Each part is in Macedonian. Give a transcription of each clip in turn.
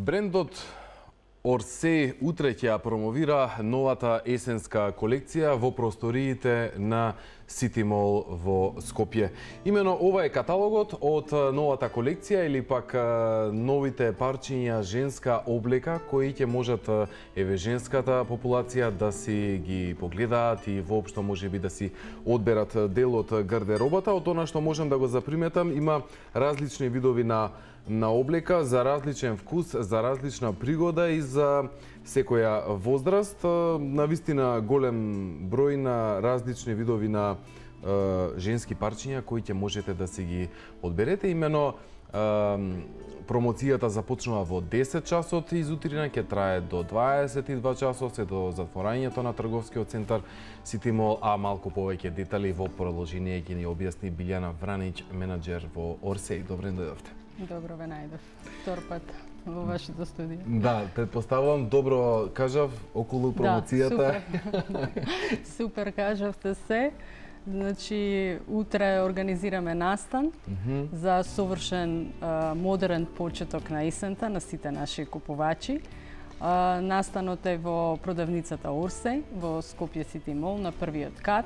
Брендот Орсей утре ќе ја промовира новата есенска колекција во просториите на Сити Мол во Скопје. Имено ова е каталогот од новата колекција или пак новите парчиња женска облека кои ќе можат женската популација да си ги погледаат и воопшто можеби да си одберат дел од гардеробата. Од она што можам да го заприметам, има различни видови на облека, за различен вкус, за различна пригода и за секоја возраст. Навистина голем број на различни видови на женски парчиња кои ќе можете да си ги одберете. Имено промоцијата започнува во 10 часот изутрина, ќе трае до 22 часот, се до затворањето на трговскиот центар Сити Мол, а малку повеќе детали во продолжение ќе ни објасни Билјана Вранич, менаџер во Орсей. Добре дојдовте. Добро ве најдов. Втор пат во вашето студио. Да, предпоставувам добро кажав околу промоцијата. Да, супер кажавте се. Значи, утре организираме настан за совршен модерен почеток на есента на сите наши купувачи. Настанот е во продавницата Орсей во Скопје Сити Мол на првиот кат.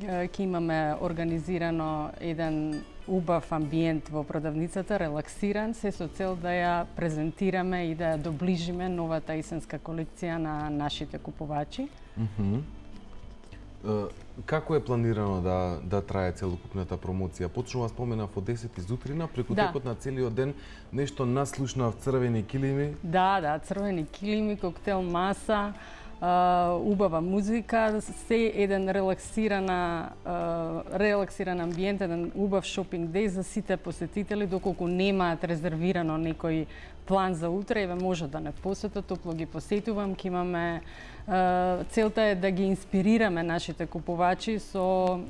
Ќе имаме организирано еден убав амбиент во продавницата, релаксиран, се со цел да ја презентираме и да ја доближиме новата есенска колекција на нашите купувачи. Како е планирано да трае целокупната промоција? Почнува, споменав, од 10 изутрина, преку текот на целиот ден нешто наслушнав, црвени килими. Да, црвени килими, коктел маса, убава музика, се еден релаксиран амбиент, еден убав шопинг деј за сите посетители, доколку немаат резервирано некој план за утре, еве може да не посетат, топло ги посетувам, ќе имаме целта е да ги инспирираме нашите купувачи со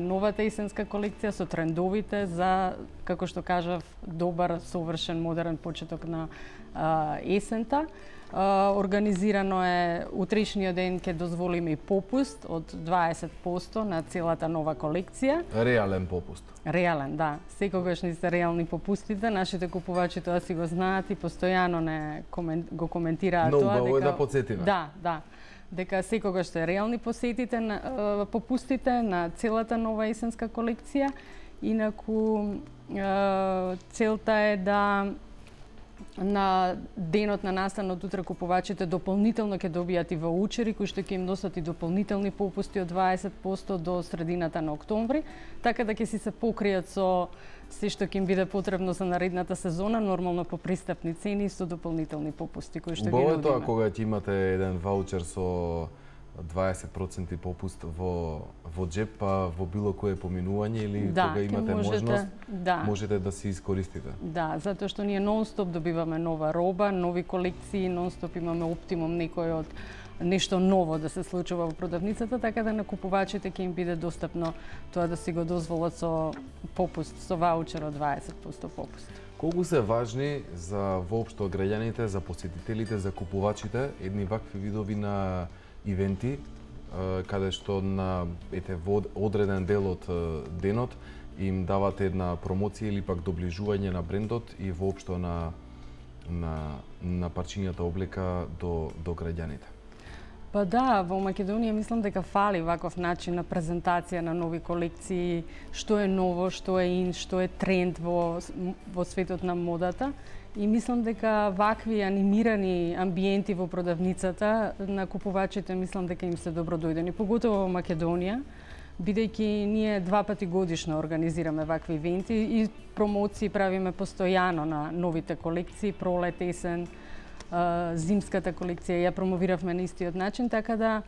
новата есенска колекција, со трендовите за, како што кажав, добар, совршен, модерен почеток на есента. Организирано е утрешниот ден, ќе дозволиме и попуст од 20% на целата нова колекција. Реален попуст. Реален, да. Секогаш не се реални попустите, нашите купувачи тоа си го знаат и постојано го коментираат тоа. Но убаво е да подсетиме. Да. Дека секогаш се реални попустите на целата нова есенска колекција. Инаку целта е да на денот на настанот утре купувачите дополнително ќе добијат и ваучери кои што ќе им носат и дополнителни попусти од 20% до средината на октомври, така да ќе си се покријат со се што ќе им биде потребно за наредната сезона, нормално по пристапни цени и со дополнителни попусти кои што ги нудиме. Тоа кога ќе имате еден ваучер со 20% попуст во джеп, па во било кое поминување или кога имате можност, можете да си искористите. Да, затоа што ние нон-стоп добиваме нова роба, нови колекции, нон-стоп имаме оптимум некој од нешто ново да се случува во продавницата, така да на купувачите ќе им биде достапно тоа да си го дозволат со попуст, со ваучер од 20% попуст. Колку се важни за воопшто граѓаните, за посетителите, за купувачите едни вакви видови на ивенти, каде што на во одреден дел од денот им давате една промоција или пак доближување на брендот и воопшто на парчињата облека до граѓаните? Па да, во Македонија мислам дека фали ваков начин на презентација на нови колекции, што е ново, што е ин, што е тренд во светот на модата. И мислам дека вакви анимирани амбиенти во продавницата на купувачите мислам дека им се добродојдени, поготово во Македонија, бидејќи ние 2 пати годишно организираме вакви ивенти и промоции правиме постојано на новите колекции, пролет, есен, зимската колекција ја промовиравме на истиот начин, така да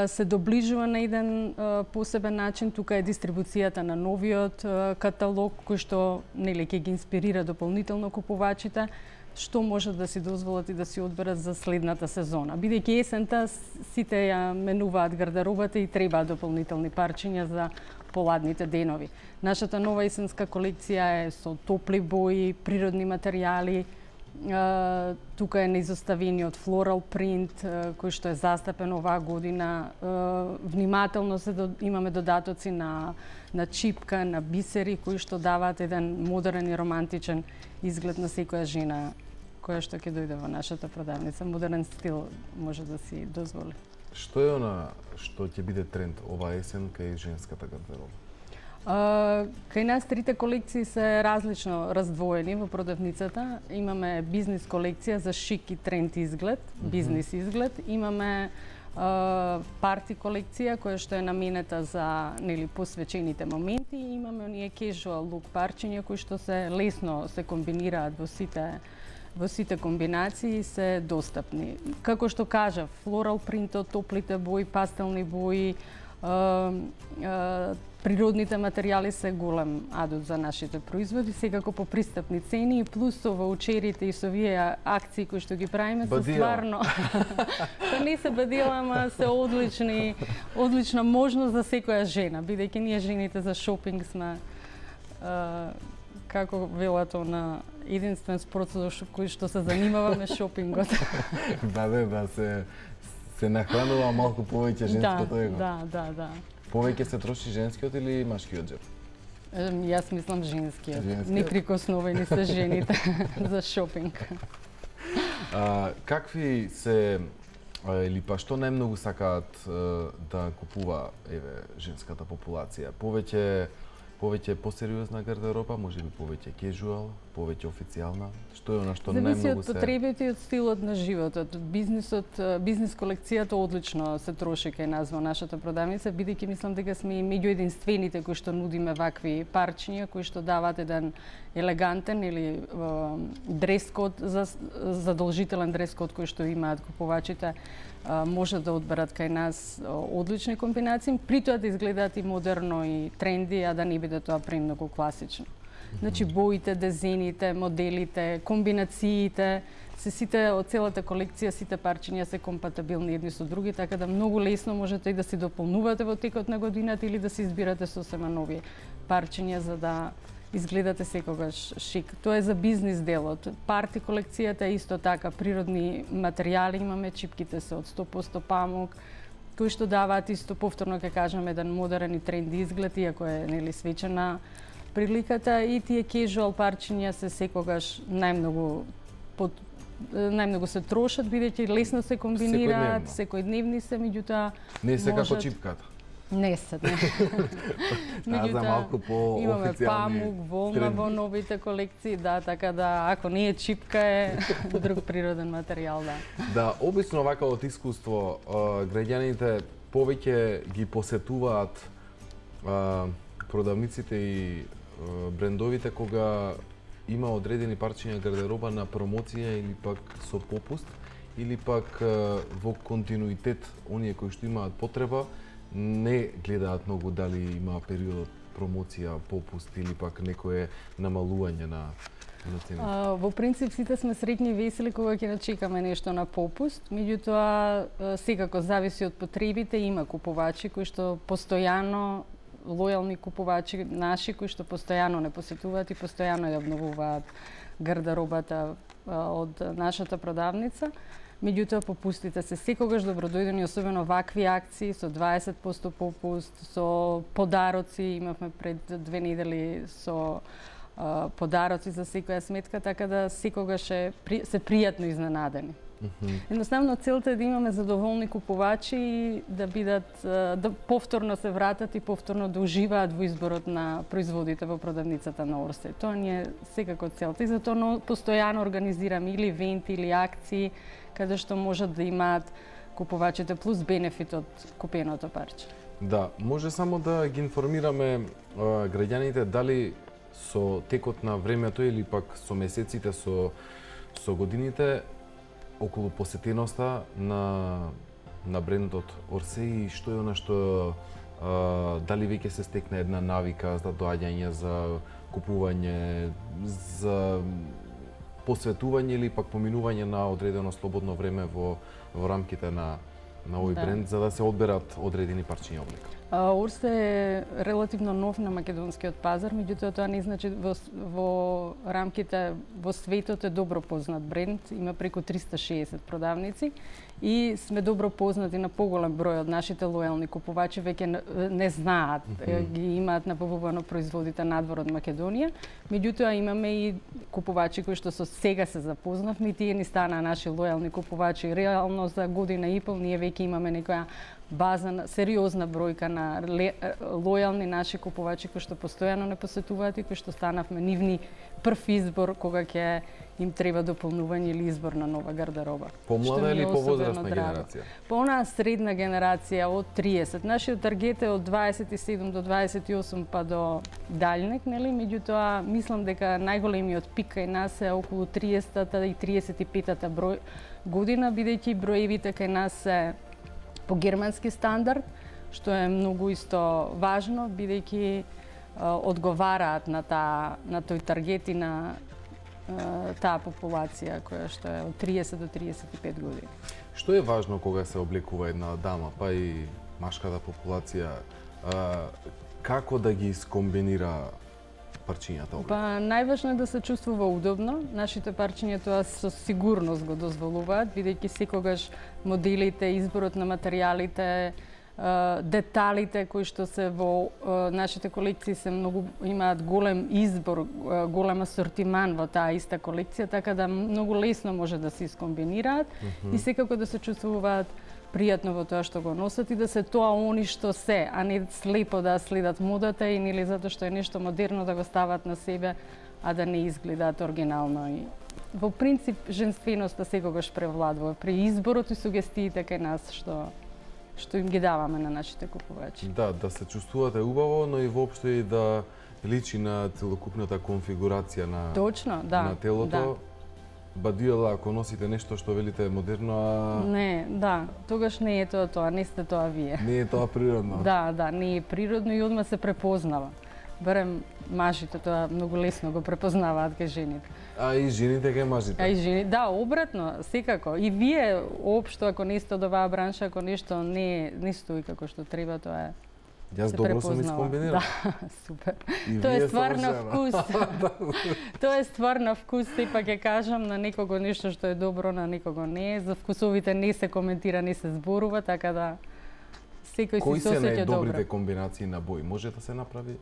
се доближува на еден посебен начин. Тука е дистрибуцијата на новиот каталог, кој што ќе ги инспирира дополнително купувачите, што можат да си дозволат и да си одберат за следната сезона. Бидејќи есента сите ја менуваат гардеробата и требаат дополнителни парчиња за поладните денови. Нашата нова есенска колекција е со топли бои, природни материјали, Тука е неизоставениот floral print кој што е застапен оваа година. Внимателно имаме додатоци на чипка, на бисери кои што даваат еден модерен и романтичен изглед на секоја жена која што ќе дојде во нашата продавница. Модерен стил може да си дозволи. Што е она што ќе биде тренд оваа есен кај женската гардероба? Кај нас трите колекции се различно раздвоени во продавницата. Имаме бизнис колекција за шик и тренд изглед, бизнис изглед. Имаме парти колекција која што е наменета за посвечените моменти. Имаме оние casual look парчиња кои што се лесно се комбинираат во сите комбинации, се достапни. Како што кажав, floral принтот, топлите бои, пастелни бои, природните материјали се голем адут за нашите производи, секако по пристапни цени, плюс со ваучерите и со овие акции кои што ги правиме се стварно. Па не се бадила, ама се одлична можност за секоја жена, бидејќи ние жените за шопинг сме како велато на единствен спорт со кој што се занимаваме шопингот. Да, се нахранува малку повеќе женското его. Да. Повеќе се троши женскиот или машкиот джеб? Јас мислам женскиот. Неприкосновени се жените за шопинг. Какви се или па што најмногу сакаат да купува женската популација? Повеќе посериозна гардероба, можеби повеќе кежуал, повеќе официјална? Што е она што најмногу се... Зависи од потребите и од стилот на животот. Бизнис колекцијата одлично се троши кај нас во нашата продавница, бидејќи мислам дека сме и меѓу единствените кои што нудиме вакви парчиња, кои што даваат еден елегантен или дрес-код, задолжителен дрес-код кој што имаат купувачите, може да одберат кај нас одлични комбинации, при тоа да изгледаат и модерно и тренди, а да не биде тоа премногу класично. Значи боите, дизајните, моделите, комбинациите, сите од целата колекција, сите парчиња се компатибилни едни со други, така да многу лесно можете и да си дополнувате во текот на годината или да си избирате сосема нови парчиња за да изгледате секогаш шик. Тоа е за бизнис делот. Парти колекцијата е исто така, природни материјали имаме, чипките се од 100% памук, кои што даваат исто повторно ќе кажам еден модерен и тренди изглед, иако е свечена приликата, и тие casual парчиња се секогаш најмногу се трошат, бидејќи лесно се комбинираат, секојдневни се, меѓутоа не се како чипката. Не се, не. За малку по-официјални. Имаме памук, волна во новите колекции, да, така да, ако не е чипка, е друг природен материјал, да. Да, обично вака од искуство, граѓаните повеќе ги посетуваат продавниците и брендовите кога има одредени парчиња гардероба на промоција или пак со попуст, или пак во континуитет, оние кои што имаат потреба, не гледаат многу дали има период промоција, попуст или пак некое намалување на цените. Во принцип сите сме среќни и весели кога ќе начекаме нешто на попуст, меѓутоа секако зависи од потребите, има купувачи кои што постојано, лојални купувачи наши кои што постојано не посетуваат и постојано ја обновуваат гардеробата од нашата продавница. Меѓутоа, попустите се секогаш добродојдени, особено вакви акции со 20% попуст, со подароци. Имавме пред 2 недели со подароци за секоја сметка, така да секогаш се пријатно изненадени. Едноставно, целта е да имаме задоволни купувачи и да бидат, да повторно се вратат и повторно да уживаат во изборот на производите во продавницата на Орсеј. Тоа ни е секако целта и затоа постојано организираме или ивенти или акции каде што можат да имаат купувачите плюс бенефит од купеното парче. Да, може само да ги информираме граѓаните дали со текот на времето или пак со месеците, со годините, околу посетеноста на брендот Орсеј и што е она што дали веќе се стекна една навика за доаѓање, за купување, за посветување или пак поминување на одредено слободно време во рамките на на овој бренд за да се одберат одредени парчиња облека? Орсе е релативно нов на македонскиот пазар, меѓутоа тоа не значи во рамките во светот е добро познат бренд, има преку 360 продавници и сме добро познати на поголем број од нашите лојални купувачи, веќе не знаат, ги имаат набавувано производите надвор од Македонија, меѓутоа имаме и купувачи кои што со сега се запознавме, тие ни станаа наши лојални купувачи. Реално за година и пол ние веќе имаме некоја база, сериозна бројка на лојални наши купувачи кои што постојано не посетуваат и кои што станавме нивни прв избор кога ќе им треба дополнување или избор на нова гардероба. Помлада или повозрастна генерација? По онаа средна генерација од 30. Нашиот таргет е од 27 до 28 па до дальнек, нели? Меѓутоа мислам дека најголемиот пик кај нас е околу 30-та и 35-та година, бидејќи броевите кај нас се по германски стандард, што е многу исто важно, бидејќи одговараат на тој таргет и на таа популација која што е од 30 до 35 години. Што е важно кога се облекува една дама, па и машката популација, како да ги скомбинира парчињата облека? Па најважно е да се чувствува удобно. Нашите парчиња тоа со сигурност го дозволуваат, бидејќи секогаш моделите, изборот на материјалите, деталите кои што се во нашите колекции се многу имаат голем избор, голем асортиман во таа иста колекција, така да многу лесно може да се искомбинираат и секако да се чувствуваат пријатно во тоа што го носат и да се тоа они што се, а не слепо да следат модата и нели затоа што е нешто модерно да го стават на себе, а да не изгледаат оригинално. И во принцип женственоста секогаш превладува при изборот и сугестиите кај нас што им ги даваме на нашите купувачи. Да се чувствувате убаво, но и воопшто и да личи на целокупната конфигурација на Точно, на телото. Бадијала, ако носите нешто што велите модерно, Не, тогаш не е тоа, не сте тоа вие. Не е тоа природно. Да, не е природно и одма се препознава. Барем мажите тоа многу лесно го препознаваат кај жените. А и жените кај мажите? Да, обратно, секако. И вие, општо, ако не сте од оваа бранша, ако нешто не стои како што треба, тоа е. Јас добро сум искомбинирал. Да, супер. Тоа е стварно вкус. Тоа е стварно вкус, сепак ќе кажам, на некого нешто што е добро, на некого не е. За вкусовите не се коментира, не се зборува, така да секој си се осеќа добро. Кои се најдобрите комбинации на бои? Може да се направи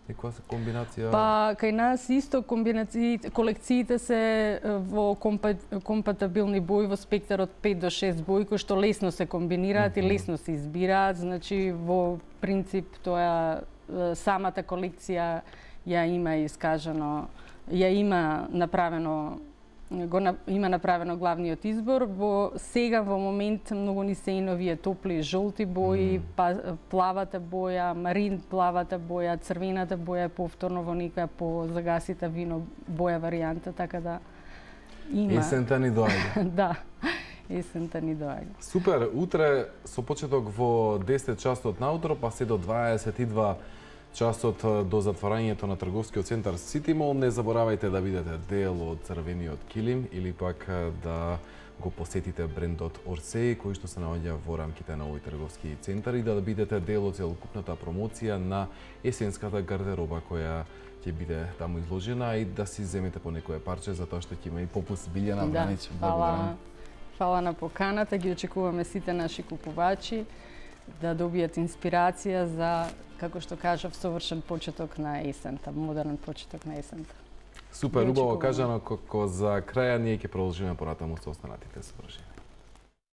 некоја комбинација? Па, кај нас исто колекциите се во компатибилни бои во спектар од 5 до 6 бои, кои што лесно се комбинираат и лесно се избираат. Значи, во принцип, тоа самата колекција ја има искажано, ја има направено главниот избор. Сега во момент многу ни се и новие топли жолти бои, плавата боја, марин плавата боја, црвената боја повторно во некоја по загасита вино боја варијанта, така да има. Есента ни доаѓа. Да, есента ни доаѓа. Супер, утре со почеток во 10 часот наутро, па се до 22 часот до затворањето на трговскиот центар Сити Мол. Не заборавајте да бидете дел од црвениот килим или пак да го посетите брендот Орсеј, кој што се наоѓа во рамките на овој трговски центар и да бидете дел од целокупната промоција на есенската гардероба која ќе биде таму изложена и да си земете по некое парче затоа што ќе има и попуст. Билјана Бранич, благодарам. Фала на поканата, ги очекуваме сите наши купувачи да добијат инспирација за, како што кажав, совршен почеток на есента, модерен почеток на есента. Супер, убаво кажано, како за краја ние ќе продолжиме понатаму со останатите содржини.